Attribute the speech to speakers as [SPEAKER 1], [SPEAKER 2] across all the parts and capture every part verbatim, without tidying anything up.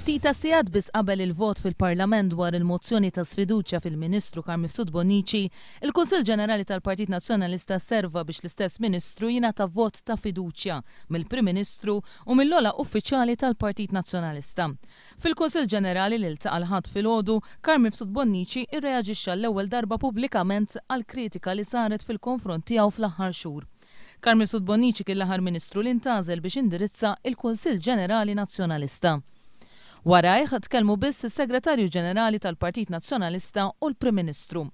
[SPEAKER 1] Ftit ta' sigħat biss qabel il-vot fil-Parlament dwar il-mozzjoni ta' sfiduċja fil-Ministru Carm Mifsud Bonnici, il-Kunsill Ġenerali tal-Partit Nazzjonalista serva biex l-istess Ministru jingħata vot ta' fiduċja mill-Prim Ministru u mill-ogħla uffiċjali tal-Partit Nazzjonalista. Fil-Kunsill Ġenerali li ltaqa' l-Ħadd filgħodu, Carm Mifsud Bonnici rreaġixxa għall-ewwel darba pubblikament għall-kritika li saret fil-konfront tiegħu fl-aħħar xhur. Carm Mifsud Bonnici kien l-aħħar Ministru li ntgħażel biex indirizza il-Kunsill Ġenerali Nazzjonalista. Warajh tkellmu biss is-Segretarju Ġenerali tal-Partit Nazzjonalista u l-Prim Ministru.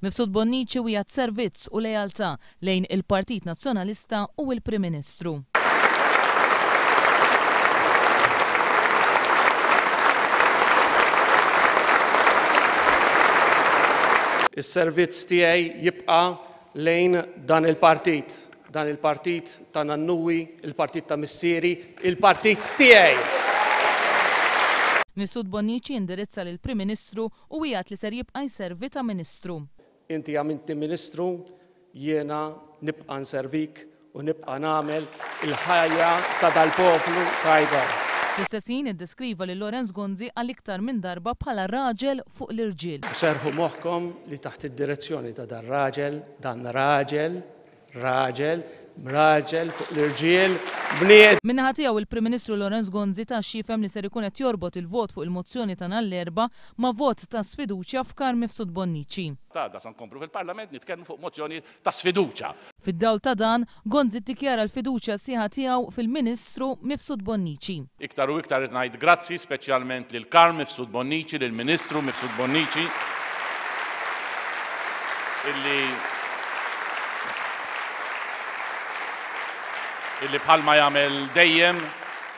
[SPEAKER 1] Mifsud Bonnici wiegħed servizz u lealtà lejn il-Partit Nazzjonalista u l-Prim Ministru.
[SPEAKER 2] Is-servizz tiegħi jibqa' lejn dan il-partit, dan il-partit ta' nannuwi, il-partit ta' missieri, il-partit tiegħi.
[SPEAKER 1] Mifsud Bonnici indirizza lill-Prim Ministru u wiegħed li ser jibqa' jservi ta' Ministru.
[SPEAKER 2] Inti għamiltni Ministru, jiena nibqa' nservik u nibqa' nagħmel il-ħajja ta' dal-poplu tajba.
[SPEAKER 1] Fl-istess ħin iddeskriva lil Lawrence Gonzi għal iktar minn darba bħala raġel fuq l-irġiel.
[SPEAKER 2] Serħu moħħkom li taħt id-direzzjoni ta' dan raġel, dan raġel, raġel, raġel fuq l-irġiel, bnied.
[SPEAKER 1] Min-naħa tiegħu il-Prim Ministru Lawrence Gonzi ta x'jifhem li ser ikun qed jorbot il-vot fuq il-mozzjoni ta' nhar l-Erbgħa ma' vot ta' sfiduċja f'Carm Mifsud Bonnici.
[SPEAKER 3] Għada se nkomplu fil-Parlament nitkellmu fuq mozzjoni ta' sfiduċja.
[SPEAKER 1] Fid-dawl ta' dan, Gonzi ddikjara l-fiduċja sħiħa tiegħu fil-Ministru Mifsud Bonnici.
[SPEAKER 3] Iktar u iktar qed ngħid grazzi speċjalment lil Carm Mifsud Bonnici, lill-Ministru Mifsud Bonnici, illi illi bħalma jagħmel dejjem,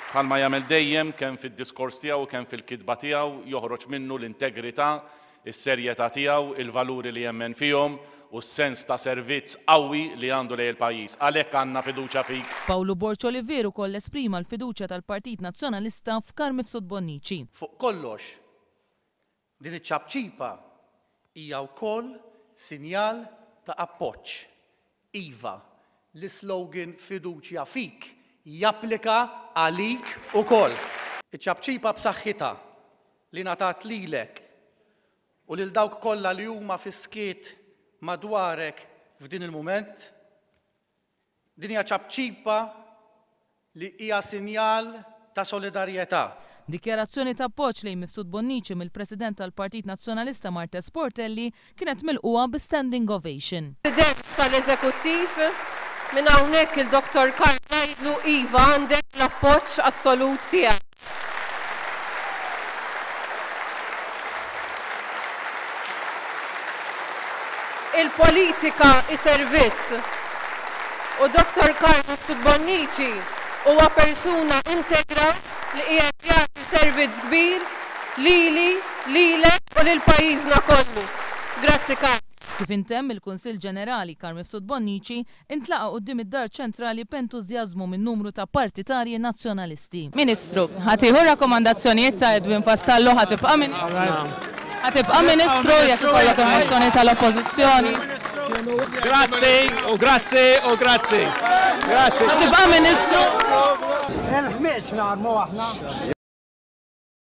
[SPEAKER 3] bħalma jagħmel dejjem kemm fid-diskors tiegħu u kemm fil-kitba tiegħu joħroġ minnu l-integrità, is-serjetà tiegħu, il-valuri li jemmen fihom u s-sens ta' servizz qawwi li għandu lejn il-pajjiż. Għalhekk għandna fiduċja fik.
[SPEAKER 1] Pawlu Borg Olivier ukoll esprima l-fiduċja tal-Partit Nazzjonalista f'Carm Mifsud Bonnici.
[SPEAKER 4] Fuq kollox, din iċ-ċapċipa hija wkoll sinjal ta' appoġġ. Iva, l-slogan fiduċja fik japplika għalik ukoll. Iċ-ċapċipa b'saħħitha li ngħatat lilek u lil dawk kollha li huma fis-skiet madwarek f'din il-mument, din hija ċapċipa li hija sinjal ta' solidarjetà.
[SPEAKER 1] Dikjarazzjoni ta' appoġġ lejn Mifsud Bonnici mill-President tal-Partit Nazzjonalista Marthese Portelli kienet milquha bi standing ovation.
[SPEAKER 5] President tal-Eżekuttiv, minn hawnhekk il-Doktor Carm ngħidlu iva għandek l-appoġġ assolut tiegħek. Il-politika hi servizz u Doktor Carm Mifsud Bonnici huwa persuna integra li qiegħed jagħti servizz kbir lili, lilek u lil pajjiżna kollu. Grazzi Carm.
[SPEAKER 1] Kif intemm il-Kunsill Ġenerali Carm Mifsud Bonnici intlaqa' quddiem id-Dar Ċentrali b'entużjażmu minn numru ta' partitarji nazzjonalisti.
[SPEAKER 6] Ministru, ħa tieħu rakkomandazzjonijiet ta' Edwin Vassallo, ħa tibqa' Ministru? Ħa tibqa' Ministru jekk ikollok il-mozzjoni tal-Oppożizzjoni?
[SPEAKER 2] Grazzi u grazzi u grazzi. Grazzi.
[SPEAKER 6] Ħa tibqa' Ministru?
[SPEAKER 7] Il-ħmieġ narmu aħna.